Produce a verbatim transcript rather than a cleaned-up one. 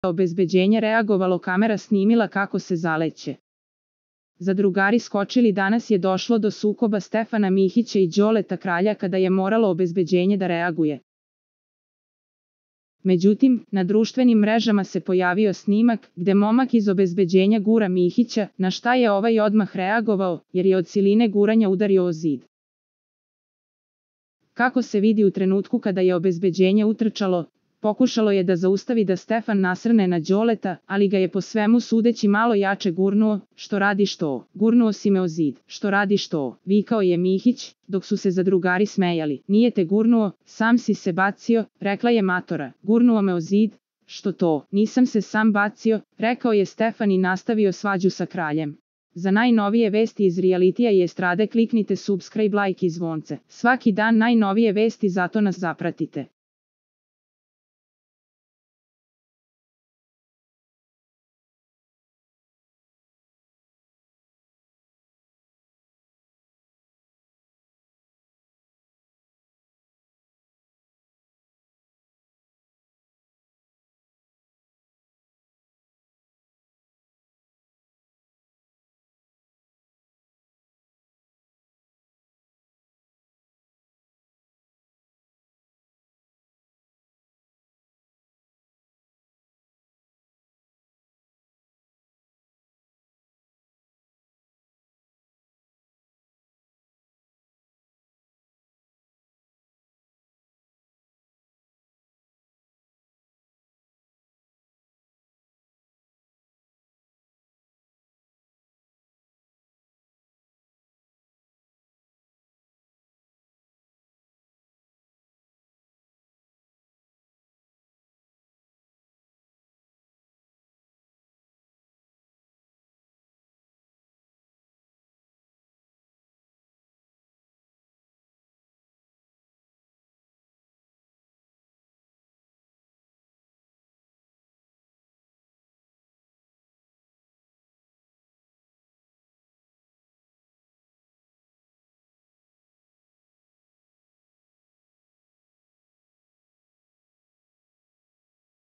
obezbeđenje reagovalo, kamera snimila kako se zaleće. Zadrugari skočili. Danas je došlo do sukoba Stefana Mihića i Đoleta Kralja kada je moralo obezbeđenje da reaguje. Međutim, na društvenim mrežama se pojavio snimak gde momak iz obezbeđenja gura Mihića, na šta je ovaj odmah reagovao, jer je od siline guranja udario o zid. Kako se vidi u trenutku kada je obezbeđenje utrčalo, pokušalo je da zaustavi da Stefan nasrne na Đoleta, ali ga je po svemu sudeći malo jače gurnuo. Što radiš to? Gurnuo si me o zid. Što radiš to? Vikao je Mihić, dok su se zadrugari smejali. Nije te gurnuo, sam si se bacio, rekla je matora. Gurnuo me o zid? Što to? Nisam se sam bacio, rekao je Stefan i nastavio svađu sa Kraljem. Za najnovije vesti iz realitija i estrade kliknite subscribe, like i zvonce. Svaki dan najnovije vesti, zato nas zapratite.